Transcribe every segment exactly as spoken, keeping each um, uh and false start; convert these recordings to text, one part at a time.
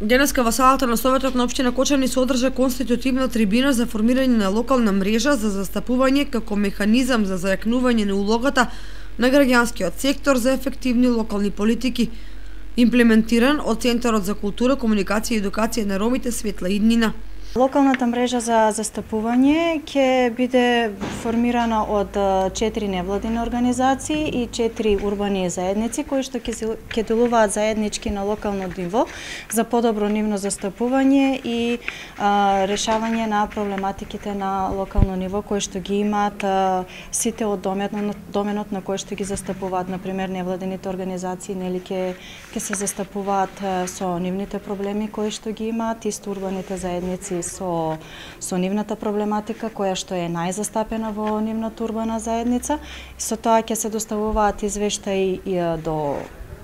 Денеска во салата на Советот на општина Кочани се одржа конститутивна трибина за формирање на локална мрежа за застапување како механизам за зајакнување на улогата на граѓанскиот сектор за ефективни локални политики, имплементиран од Центарот за култура, комуникација и едукација на ромите Светла Иднина. Локалната мрежа за застапување ќе биде формирана од четири невладини организации и четири урбани заедници кои што ќе делуваат заеднички на локално ниво за подобро нивно застапување и а, решавање на проблематиките на локално ниво кои што ги имаат а, сите од доменот, доменот на кој што ги застапуваат. Например, невладините организации нели ќе ќе се застапуваат а, со нивните проблеми кои што ги имаат, исто урбаните заедници со со нивната проблематика која што е најзастапена во нивната урбана заедница. Со тоа ќе се доставуваат извештаи до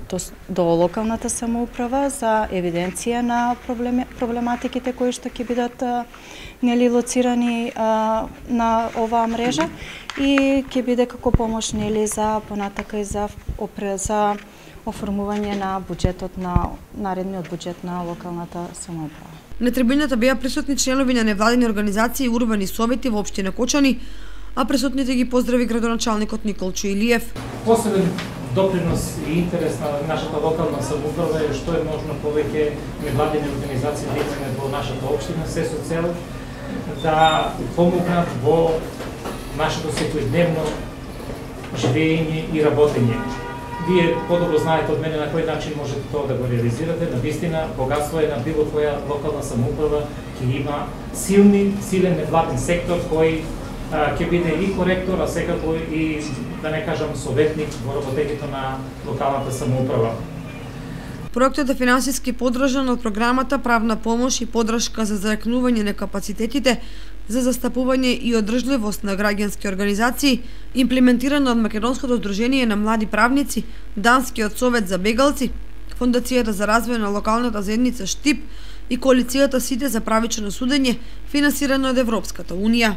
до, до локалната самоуправа за евиденција на проблеми, проблематиките кои што ќе бидат нели лоцирани а, на оваа мрежа и ќе биде како помош нели за понатака и за опре за оформување на буџетот на наредниот буџет на локалната самоуправа. На трибината беа присутни членови на невладини организации и урбани совети во општина Кочани, а присутните ги поздрави градоначалникот Николчо Илиев. Посебен допринос и интерес на нашата локална самоуправа е што е можно повеќе невладини организации да имаме во нашата општина, се со цел да помогнат во нашето секојдневно живење и работење. Вие подобро знаете од мене на кој начин можете тоа да го реализирате. Навистина, богатство е на било која локална самоуправа ќе има силни, силен невладен сектор кој а, ќе биде и коректор, а секако и, да не кажам, советник во работењето на локалната самоуправа. Проектот е финансиски поддржан од програмата Правна помош и поддршка за зајакнување на капацитетите за застапување и одржливост на граѓански организации, имплементирано од Македонското здружение на млади правници, Данскиот совет за бегалци, Фондацијата за развој на локалната заедница Штип и коалицијата Сите за правично судење, финансирано од Европската унија.